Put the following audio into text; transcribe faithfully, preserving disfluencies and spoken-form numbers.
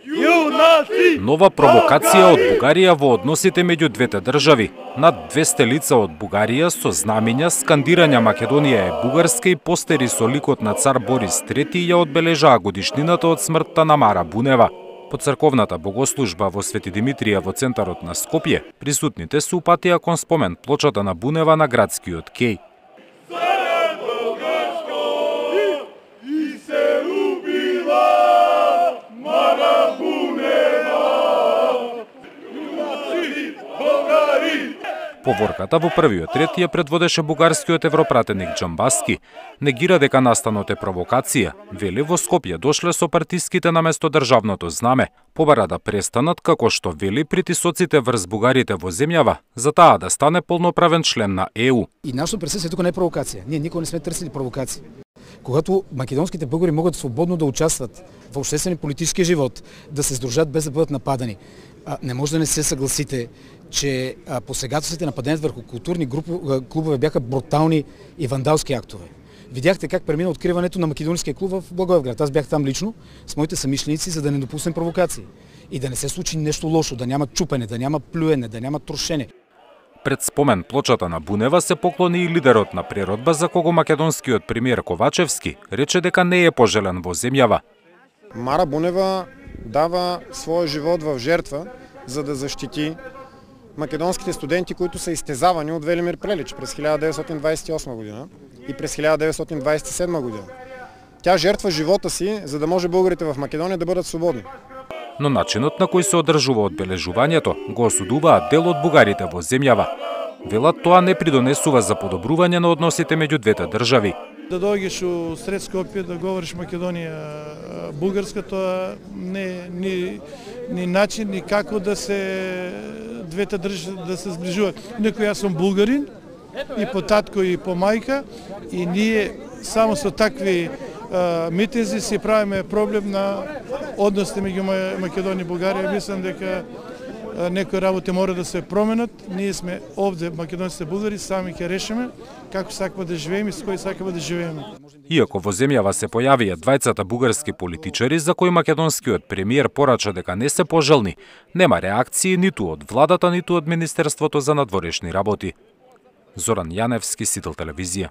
Нова провокација од Бугарија во односите меѓу двете држави. Над двесте лица од Бугарија со знамиња, скандирања Македонија е бугарска и постери со ликот на цар Борис трети ја одбележаа годишнината од смртта на Мара Бунева. По црковната богослужба во Свети Димитрија во центарот на Скопје, присутните се упатија кон спомен плочата на Бунева на градскиот кеј. Поворката во првиот ред ја предводеше бугарскиот европратеник Џамбаски. Негира дека настанот е провокација. Вели во Скопје дошле со партиските наместо државното знаме. Побара да престанат, како што вели, притисоците врз бугарите во земјава, за таа да стане полноправен член на Е У. И нашето присуствие тука не е провокација. Ние никога не сме търсили провокација. Когато македонските българи могат свободно да участват во обществен и политички живот, да се сдружат без да бъдат нападани, не може да не се съгласите, че посегателствата нападението върху културни групи, клубове бяха брутални и вандалски актове. Видяхте как премина откриването на македонския клуб в Благоевград. Аз бях там лично с моите съмишленици, за да не допуснем провокации. И да не се случи нещо лошо, да няма чупене, да няма плюене, да няма трошене. Пред спомен плочата на Бунева се поклони и лидерот на преродба, за кого македонскиот премиер Ковачевски рече дека не е пожелен во земјава. Мара Бунева дава својот живот в жертва за да защити македонските студенти, които са изтезавани от Велимир Прелич през хиляда деветстотин двадесет и осма година и през хиляда деветстотин двадесет и седма година. Тя жертва живота си, за да може българите в Македонија да бъдат свободни. Но начинот на кој се одржува одбележувањето го осудуваат дел од бугарите во земјава. Велат тоа не придонесува за подобрување на односите меѓу двете држави. Да дојдеш у сред Скопје да говориш Македонија бугарска, тоа не ни ни начин ни како да се двете држави да се зближуваат. Некој јас сум булгарин и по татко и по мајка и ние само со такви а, митинзи си правиме проблем на односите меѓу Македонија и Бугарија. Мислам дека некои работи мора да се променат. Ние сме овде, македонците булгари, сами ќе решиме како сакаме да живееме и со кој сакаме да живееме. Иако во земјава се појавија двајцата бугарски политичари за кои македонскиот премиер порача дека не се пожелни, нема реакции ниту од владата, ниту од Министерството за надворешни работи. Зоран Јаневски, Сител телевизија.